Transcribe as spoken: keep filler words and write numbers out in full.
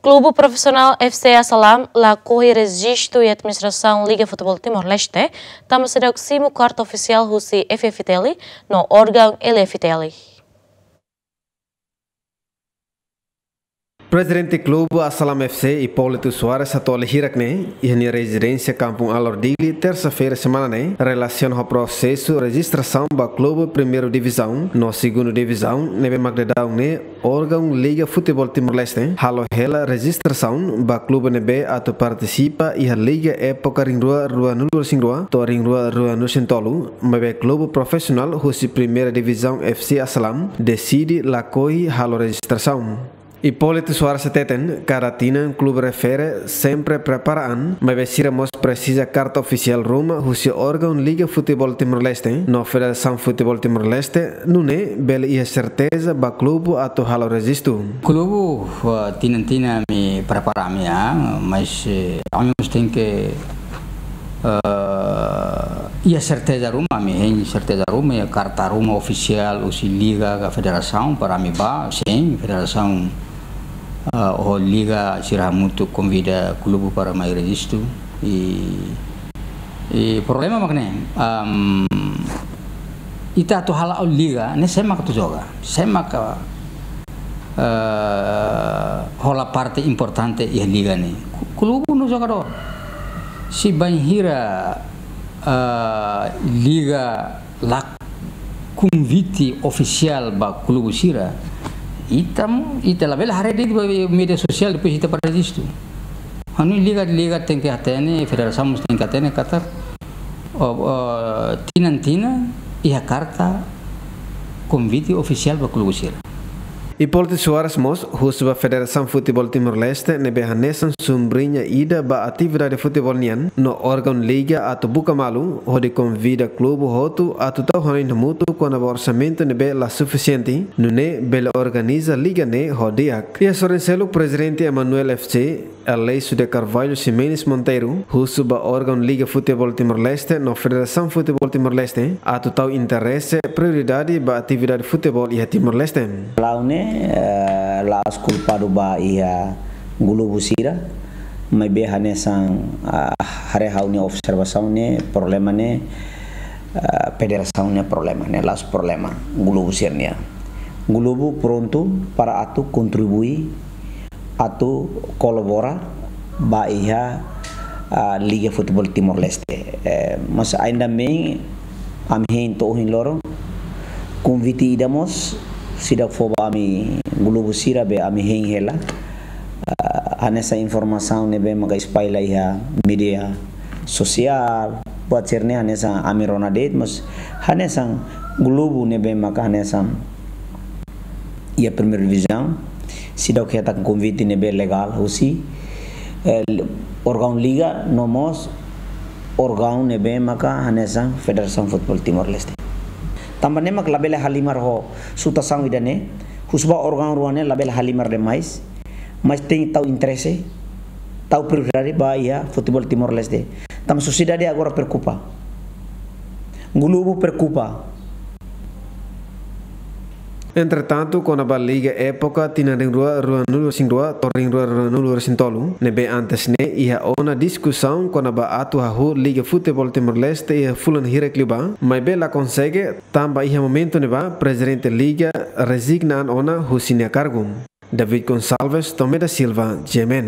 Klubu Profisionál F C Asalam lakohi rejistu iha administrasaun Liga Futeból Timor-Leste, tanba seidauk simu karta ofisiál husi F F T L no órgaun L F T L. Prezidente Klubu Asalam F C, Hipólito Soares, hato'o hirak-ne'e iha nia rezidénsia Kampung Alor, Dili, tersa-feira semana ne'e, relasiona ho prosesu rejistrasaun ba klubu Primeira Divizaun no Segunda Divizaun ne'ebé mak daudaun ne'e órgaun Liga Futeból Timor-Leste halo hela rejistrasaun ba klubu ne'ebé atu partisipa iha Liga époka rihun rua ruanulu-resin-rua to'o rihun rua ruanulu-resin-tolu, maibé klubu profisionál husi Primeira Divizaun F C Asalam deside lakohi halo rejistrasaun. Hipólito Soares hateten, kada tinan klube refere sempre prepara an, maibé sira mós presiza karta ofisiál ruma husi órgaun Liga Futeból Timor-Leste no Federasaun Futeból Timor-Leste, nune'e bele iha serteza ba klubu atu halo rejistu. Klubu, eh, tinan-tinan ami prepara ami, ah, mas, eh, ami mós tenke, eh, iha serteza ruma, ami hein serteza ruma, iha karta ruma ofisiál husi liga ka federasaun para ami bá, sin, federasaun, eh, ho liga sira hamutuk konvida klubu para mai rejistu. I, i problema mak ne'e, am, ita atu hala'o liga, ne'e sé mak atu joga, sé mak, eh, hola parte importante iha liga ne'e. Ku-, klubu no jogadór. Se bainhira, eh, liga la konvite ofisiál ba klubu sira, ita mo, ita labele haree de'it ba média sosiál, depois ita para rejistu. Ha'u hanoin liga, liga tenke hatene, federasaun mós tenke hatene katak, o, o, tinan-tinan iha karta konvite ofisiál ba klubu sira. Hipólito Soares mós husu ba Federasaun Futeból Timor-Leste ne'ebé hanesan sombriña ida ba atividade futeból nian no órgaun liga atu buka malu hodi konvida klubu hotu atu tau hanoin hamutuk kona-ba orsamentu ne'ebé la sufisiente, nune'e bele organiza liga ne'e ho di'ak. Iha sorin seluk, Prezidente Emanuel F C, Aleixo de Carvalho Ximenes Monteiro, husu ba órgaun Liga Futeból Timor-Leste no Federasaun Futeból Timor-Leste atu tau interese prioridade ba atividade futeból iha Timor-Leste. Ha'u ne'e, eh, la'ós kulpadu ba iha klubu sira, maibé hanesan, ah, haree ha'u-nia observasaun ne'e, problema ne'e, ah, federasaun nia problema, ne'e la'ós problema klubu sira-nian. Klubu prontu para atu kontribui, atu kolabora ba iha, ah, Liga Futeból Timor-Leste. Eh, mas ainda bem, ami hein to'o ohin loron, konvite ida mós seidauk fó ba ami klubu sira be ami hein hela. Ah, hanesan informasaun ne'ebé maka espalla iha média sosiál, buat sira-ne'e hanesan ami rona de'it, mas hanesan klubu ne'ebé maka hanesan iha Primeira Divizaun, seidauk hetan konvite ne'ebé legál husi, eh, órgaun liga, no mós órgaun ne'ebé maka hanesan Federasaun Futeból Timor-Leste. Tanba ne'e mak labele halimar ho situasaun ida-ne'e, husu ba órgaun rua ne'e labele halimar demais, mas tenke tau interese, tau prioridade ba iha futeból Timor-Leste. Tanba sosiedade agora preokupa. Klubu preokupa. Entretantu, kona-ba liga époka tinan rihun rua ruanulu-resin-rua to'o rihun rua ruanulu-resin-tolu, ne'ebé antes ne'e iha ona diskusaun kona-ba atu hahú Liga Futeból Timor-Leste iha fulan hirak liubá, maibé la konsege, tanba iha momentu ne'ebá Prezidente Liga rezigna an ona husi nia kargu. David Gonçalves, Tomé da Silva, G M N.